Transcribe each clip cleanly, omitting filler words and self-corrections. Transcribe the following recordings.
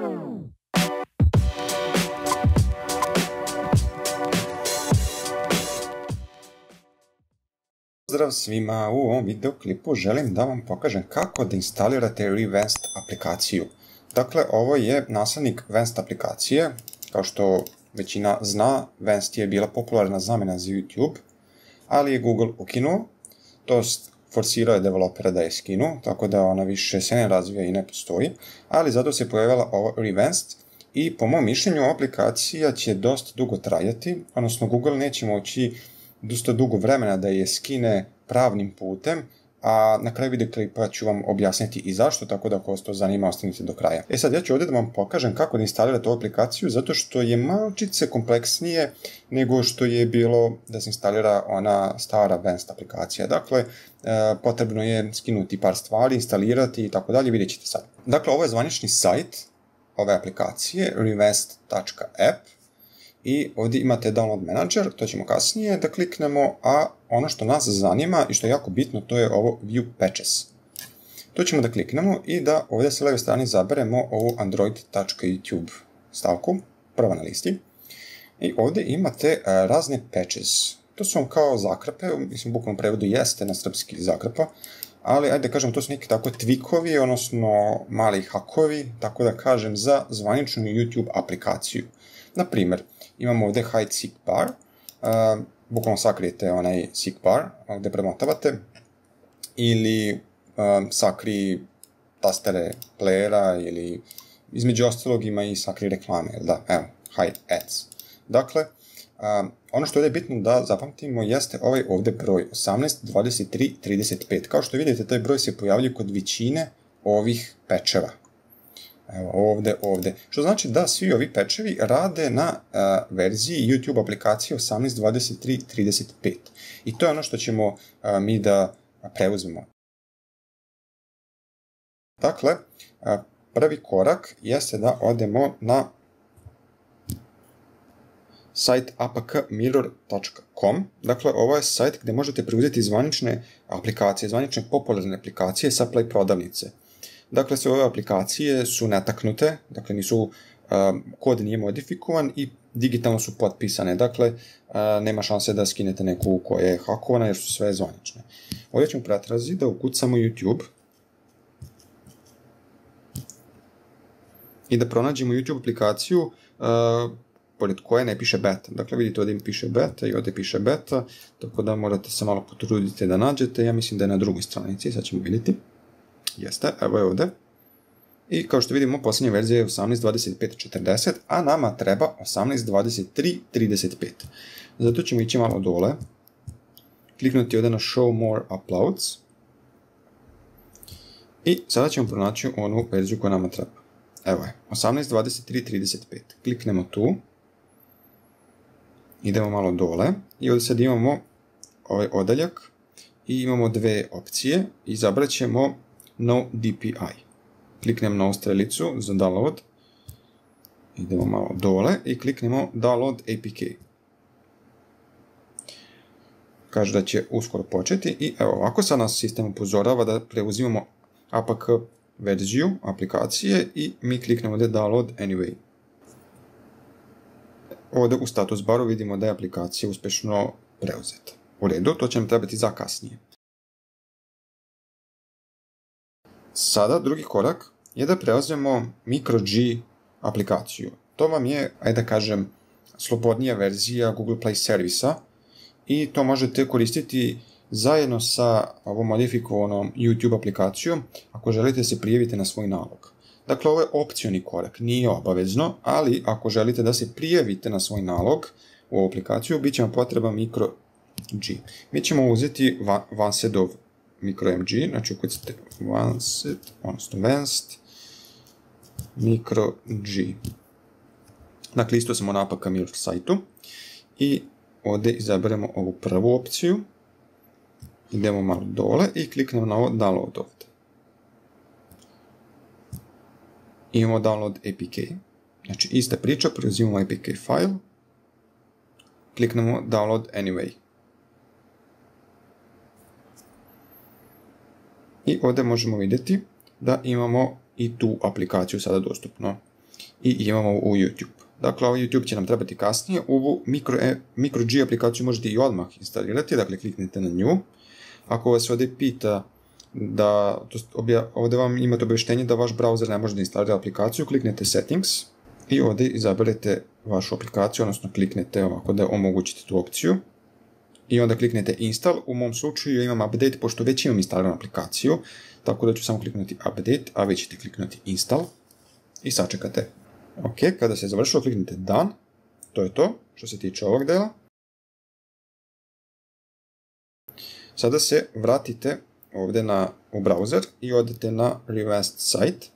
Pozdrav svima, u ovom videoklipu želim da vam pokažem kako da instalirate Revanced aplikaciju. Dakle, ovo je naslednik Vanced aplikacije. Kao što većina zna, Vanced je bila popularna zamena za YouTube, ali je Google ukinuo, to forsirao je developera da je skinu, tako da ona više se ne razvija i ne postoji, ali zato se pojavila ovo Revanced i po mom mišljenju aplikacija će dosta dugo trajati, odnosno Google neće moći dosta dugo vremena da je skine pravnim putem, a na kraju videoklipa ću vam objasniti i zašto, tako da ako vas to zanima, ostanite do kraja. Sad ja ću ovdje da vam pokažem kako da instalirate ovu aplikaciju, zato što je malčice kompleksnije nego što je bilo da se instalira ona stara Vanced aplikacija. Dakle, potrebno je skinuti par stvari, instalirati i tako dalje, vidjet ćete sad. Dakle, ovo je zvanični sajt ove aplikacije, revanced.app. I ovdje imate Download Manager, to ćemo kasnije da kliknemo, a ono što nas zanima i što je jako bitno, to je ovo View Patches. To ćemo da kliknemo i da ovdje sa leve strane zaberemo ovu Android.youtube stavku, prva na listi. I ovdje imate razne patches. To su vam kao zakrpe, mislim bukvalno prevodu jeste na srpski zakrpa, ali ajde da kažem, to su neki tako tvikovi, odnosno mali hakovi, tako da kažem, za zvaničnu YouTube aplikaciju. Na primjer, imamo ovdje Hide Seek Bar, bukvalno sakrijete onaj Seek Bar gdje premotavate, ili sakri tastere playera, ili između ostalog ima i sakri reklame, da, evo, Hide Ads. Dakle, ono što je bitno da zapamtimo jeste ovaj ovdje broj 182335. Kao što vidite, taj broj se pojavljuje kod većine ovih pečeva. Evo, ovdje. Što znači da svi ovi pečevi rade na verziji YouTube aplikacije 182335. I to je ono što ćemo mi da preuzmemo. Dakle, prvi korak jeste da odemo na sajt apkmirror.com. Dakle, ovo je sajt gdje možete preuzeti zvanične aplikacije, zvanične popularne aplikacije sa Play prodavnice. Dakle, sve ove aplikacije su netaknute, dakle kod nije modifikovan i digitalno su potpisane, dakle nema šanse da skinete neku koja je hakovana jer su sve zvanične. Ovdje ćemo pretrazi da ukucamo YouTube i da pronađemo YouTube aplikaciju pored koje ne piše beta. Dakle, vidite ovdje piše beta i ovdje piše beta, tako da morate se malo potruditi da nađete. Ja mislim da je na drugoj stranici, sad ćemo vidjeti. Jeste, evo je ovdje. I kao što vidimo, posljednja verzija je 18.25.40, a nama treba 18.23.35. Zato ćemo ići malo dole, kliknuti ovdje na Show More Uploads i sada ćemo pronaći onu verziju koja nama treba. Evo je, 18.23.35. Kliknemo tu, idemo malo dole i ovdje sad imamo ovaj odaljak i imamo dve opcije. Izabrat ćemo No DPI. Kliknemo na ovu strelicu za download. Idemo malo dole i kliknemo Download APK. Kaže da će uskoro početi i evo ovako sad nas sistem upozorava da preuzimamo APK verziju aplikacije i mi kliknemo ovdje Download Anyway. Ovdje u status baru vidimo da je aplikacija uspješno preuzeta. U redu, to će nam trebati za kasnije. Sada drugi korak je da preuzmemo MicroG aplikaciju. To vam je, ajde da kažem, slobodnija verzija Google Play servisa i to možete koristiti zajedno sa ovom modifikovanom YouTube aplikacijom ako želite se prijaviti na svoj nalog. Dakle, ovo je opcioni korak, nije obavezno, ali ako želite da se prijavite na svoj nalog u ovu aplikaciju, bit će vam potreban MicroG. Mi ćemo uzeti Vancedov MicroMG, znači ukucite Vanced, odnosno Vanced MicroG. Dakle, isto smo na APK Mirror sajtu i ovdje izaberemo ovu prvu opciju, idemo malo dole i kliknemo na ovo Download ovdje. Imamo Download APK, znači ista priča, preuzimamo APK file, kliknemo Download Anyway. I ovdje možemo vidjeti da imamo i tu aplikaciju sada dostupno. i imamo u YouTube. Dakle, ovaj YouTube će nam trebati kasnije. Ovu MicroG aplikaciju možete i odmah instalirati, dakle kliknite na nju. Ako vas ovdje pita ovdje vam imate obavještenje da vaš browser ne može da instalira aplikaciju, kliknete Settings i ovdje izaberete vašu aplikaciju, odnosno kliknete ovako da omogućite tu opciju i onda kliknete Install. U mom slučaju ja imam Update, pošto već imam instaliranu aplikaciju, tako da ću samo kliknuti Update, a vi ćete kliknuti Install i sačekate. Ok, kada se završilo, kliknite Done. To je to što se tiče ovog dela. Sada se vratite ovdje u browser i odete na Revanced Site.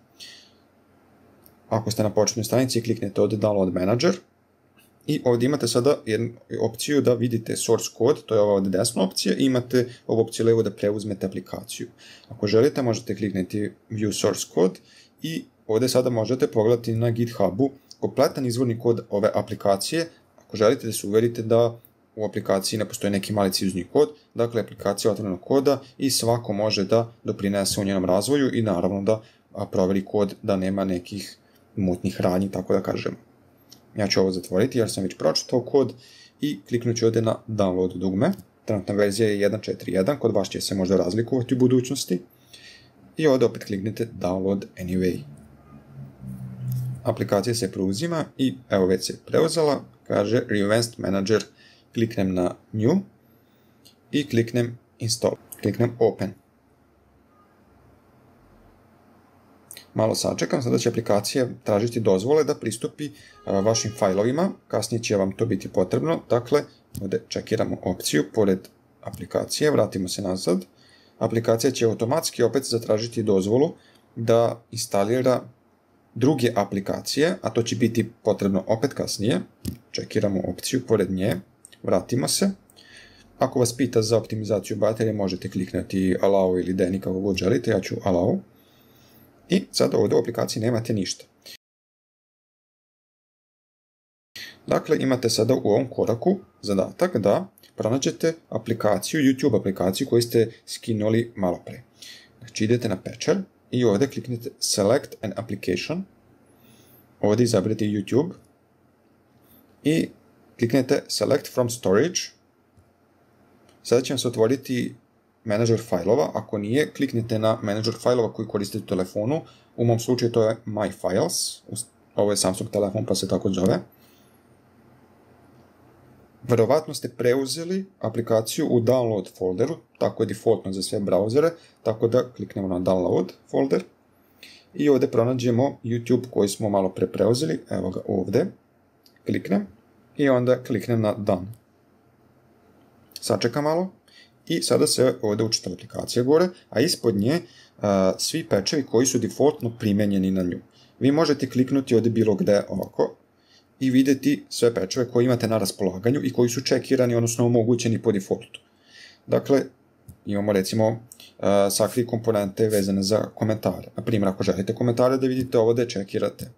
Ako ste na početnoj stranici, kliknete ovdje Download Manager i ovdje imate sada jednu opciju da vidite source code, to je ova ovdje desna opcija, i imate ovu opciju levo da preuzmete aplikaciju. Ako želite, možete kliknuti View Source Code i ovdje sada možete pogledati na GitHubu kompletan izvorni kod ove aplikacije. Ako želite da se uverite da u aplikaciji ne postoji neki maliciozni kod, dakle aplikacija otvorenog koda i svako može da doprinese u njenom razvoju i naravno da proveri kod da nema nekih mutnih radnji, tako da kažem. Ja ću ovo zatvoriti jer sam već pročitao kod i kliknut ću ovdje na download dugme. Trenutna verzija je 1.4.1, kod vas će se možda razlikovati u budućnosti. I ovdje opet kliknite download anyway. Aplikacija se preuzima i evo već se preuzela, kaže Revanced Manager. Kliknem na New i kliknem Install. Kliknem Open. Malo sačekam, sada će aplikacija tražiti dozvole da pristupi vašim fajlovima, kasnije će vam to biti potrebno, dakle, ovdje čekiramo opciju, pored aplikacije, vratimo se nazad, aplikacija će automatski opet zatražiti dozvolu da instalira druge aplikacije, a to će biti potrebno opet kasnije, čekiramo opciju pored nje, vratimo se, ako vas pita za optimizaciju baterije, možete kliknuti Allow ili Deny kako god želite, ja ću Allow. I sada ovdje u aplikaciji nemate ništa. Dakle, imate sada u ovom koraku zadatak da pronađete aplikaciju, YouTube aplikaciju koju ste skinuli malo pre. Znači idete na Patcher i ovdje kliknite Select an Application. Ovdje izaberete YouTube i kliknete Select from Storage. Sada će vam se otvoriti menadžer fajlova, ako nije, kliknite na menadžer fajlova koji koristite u telefonu, u mom slučaju to je My Files, ovo je Samsung telefon pa se tako zove. Verovatno ste preuzeli aplikaciju u download folderu, tako je defaultno za sve brauzere, tako da kliknemo na download folder i ovdje pronađemo YouTube koji smo malo pre preuzeli, evo ga ovdje, kliknem i onda kliknem na done. Sačekam malo. I sada se ovdje učita aplikacija gore, a ispod nje svi patchevi koji su defaultno primenjeni na nju. Vi možete kliknuti ovdje bilo gde ovako i vidjeti sve patcheve koje imate na raspolaganju i koji su čekirani, odnosno omogućeni po defaultu. Dakle, imamo recimo sakri komponente vezane za komentare. Na primjer, ako želite komentare da vidite ovdje čekirate.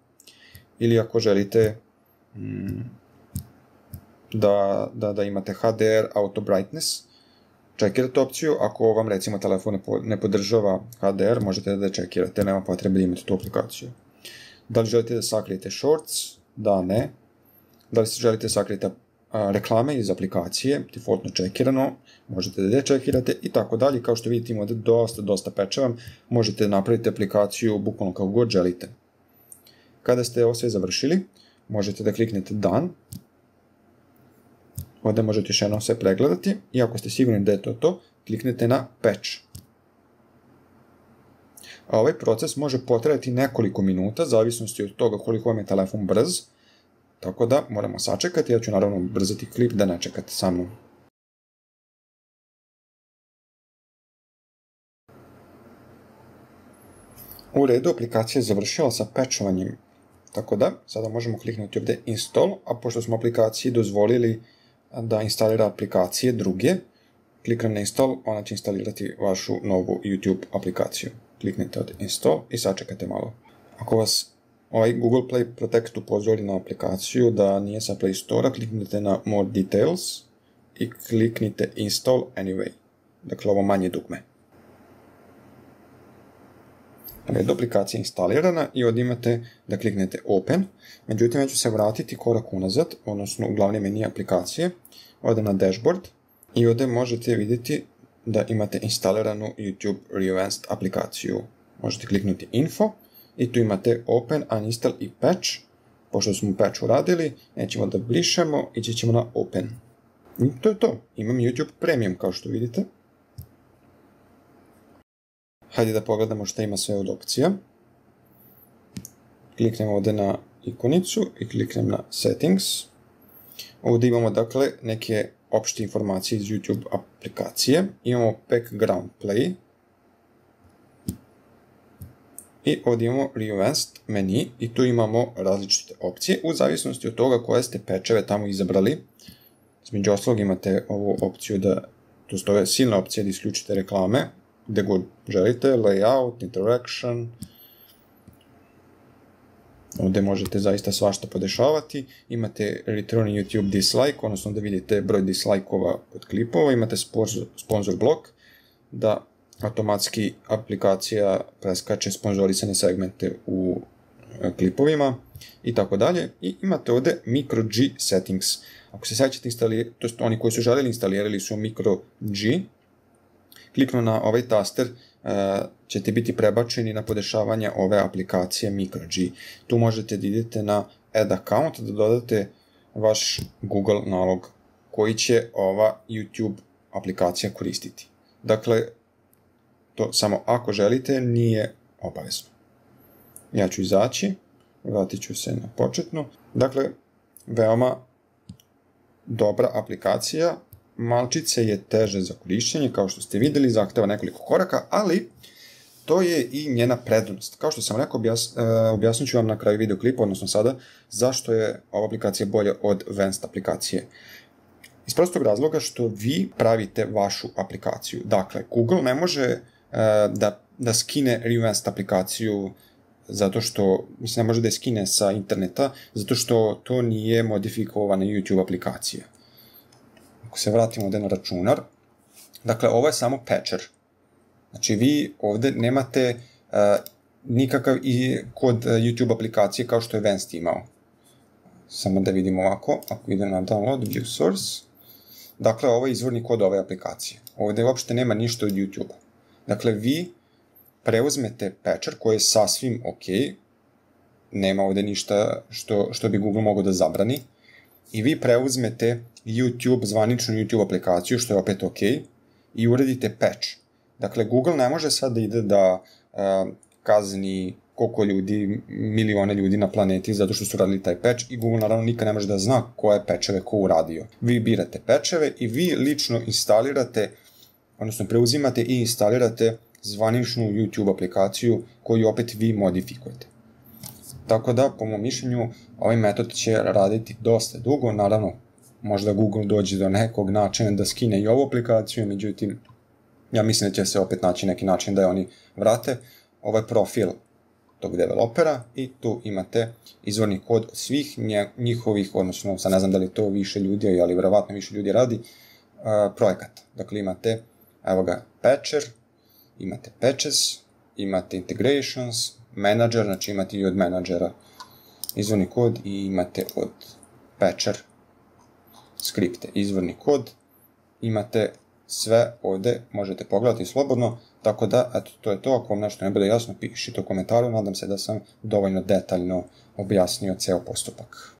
Ili ako želite da imate HDR Auto Brightness, čekirate opciju, ako vam recimo telefon ne podržava HDR, možete da čekirate, nema potrebe da imate tu aplikaciju. Da li želite da sakrijete shorts? Da, ne. Da li želite da sakrijete reklame iz aplikacije, defaultno čekirano, možete da čekirate i tako dalje. Kao što vidite imate dosta patcheva, možete napraviti aplikaciju bukvalno kako god želite. Kada ste ovo sve završili, možete da kliknete Done. Ovdje možete još jednom sve pregledati i ako ste sigurni da je to, kliknete na Patch. A ovaj proces može potrajati nekoliko minuta, zavisnosti od toga koliko vam je telefon brz, tako da moramo sačekati, ja ću naravno brzati klip da ne čekate sa mnom. U redu, aplikacija je završila sa patchovanjem, tako da sada možemo kliknuti ovdje Install, a pošto smo aplikaciji dozvolili da instalira aplikacije druge, kliknem na Install, ona će instalirati vašu novu YouTube aplikaciju. Kliknite od Install i sačekate malo. Ako vas ovaj Google Play Protect upozori na aplikaciju da nije sa Play Store-a, kliknite na More Details i kliknite Install Anyway. Dakle, ovo manje dugme. aplikacija je instalirana i ovdje imate da kliknete Open. Međutim, ja ću se vratiti korak unazad, odnosno u glavni meni aplikacije. Ovdje na Dashboard i ovdje možete vidjeti da imate instaliranu YouTube Revanced aplikaciju. Možete kliknuti Info i tu imate Open, Uninstall i Patch. Pošto smo patch uradili, nećemo da brišemo, ići ćemo na Open. I to je to. Imam YouTube Premium kao što vidite. Hajde da pogledamo šta ima sve od opcija. Kliknem ovdje na ikonicu i kliknem na Settings. Ovdje imamo dakle neke opšte informacije iz YouTube aplikacije. Imamo Background Play. I ovdje imamo Revanced menu i tu imamo različite opcije u zavisnosti od toga koje ste patcheve tamo izabrali. Između ostalog imate ovu opciju to je silna opcija da isključite reklame gdje god želite, layout, interaction. Ovdje možete zaista svašta podešavati. Imate return YouTube dislike, odnosno da vidite broj dislike-ova kod klipova. Imate sponsor blok, da automatski aplikacija preskače sponzorisane segmente u klipovima i tako dalje. I imate ovdje micro G settings. Ako se sjećate to jest oni koji su željeli instalirali su micro G. Kliknu na ovaj taster, ćete biti prebačeni na podešavanje ove aplikacije micro G. Tu možete da idete na add account, da dodate vaš Google nalog koji će ova YouTube aplikacija koristiti. Dakle, to samo ako želite, nije obavezno. Ja ću izaći, vratit ću se na početnu. Dakle, veoma dobra aplikacija. Malčice je teže za korišćenje, kao što ste vidjeli, zahteva nekoliko koraka, ali to je i njena prednost. Kao što sam rekao, objasnit ću vam na kraju videoklipa, odnosno sada, zašto je ova aplikacija bolja od Vanced aplikacije. Iz prostog razloga što vi pravite vašu aplikaciju. Dakle, Google ne može da skine Revanced aplikaciju zato što, ne može da je skine sa interneta, zato što to nije modifikovana YouTube aplikacija. Ako se vratimo ovdje na računar, dakle, ovo je samo patcher. Znači, vi ovdje nemate nikakav i kod YouTube aplikacije kao što je Vanced imao. Samo da vidimo ovako, ako idem na download, view source, dakle, ovo je izvorni kod ove aplikacije. Ovdje uopšte nema ništa od YouTube-a. Dakle, vi preuzmete patcher koji je sasvim ok, nema ovdje ništa što bi Google mogao da zabrani, i vi preuzmete YouTube, zvaničnu YouTube aplikaciju, što je opet ok, i uradite patch. Dakle, Google ne može sad da ide da kazni koliko ljudi, milione ljudi na planeti zato što su radili taj patch, i Google naravno nikad ne može da zna koje patcheve ko uradio. Vi birate patcheve i vi lično instalirate, odnosno preuzimate i instalirate zvaničnu YouTube aplikaciju koju opet vi modifikujete. Tako da, po mom mišljenju, ovaj metod će raditi dosta dugo. Naravno, možda Google dođe do nekog načina da skine i ovu aplikaciju, međutim, ja mislim da će se opet naći neki način da je oni vrate. Ovo je profil tog developera i tu imate izvorni kod od svih njihovih, odnosno, sad ne znam da li to više ljudi, ali vjerovatno više ljudi radi, projekata. Dakle, imate, evo ga, patcher, imate patches, imate integrations, manager, znači imate i od menadžera izvorni kod i imate od patcher skripte izvorni kod, imate sve ovdje, možete pogledati slobodno, tako da, eto, to je to. Ako vam nešto ne bude jasno, pišite u komentaru, nadam se da sam dovoljno detaljno objasnio ceo postupak.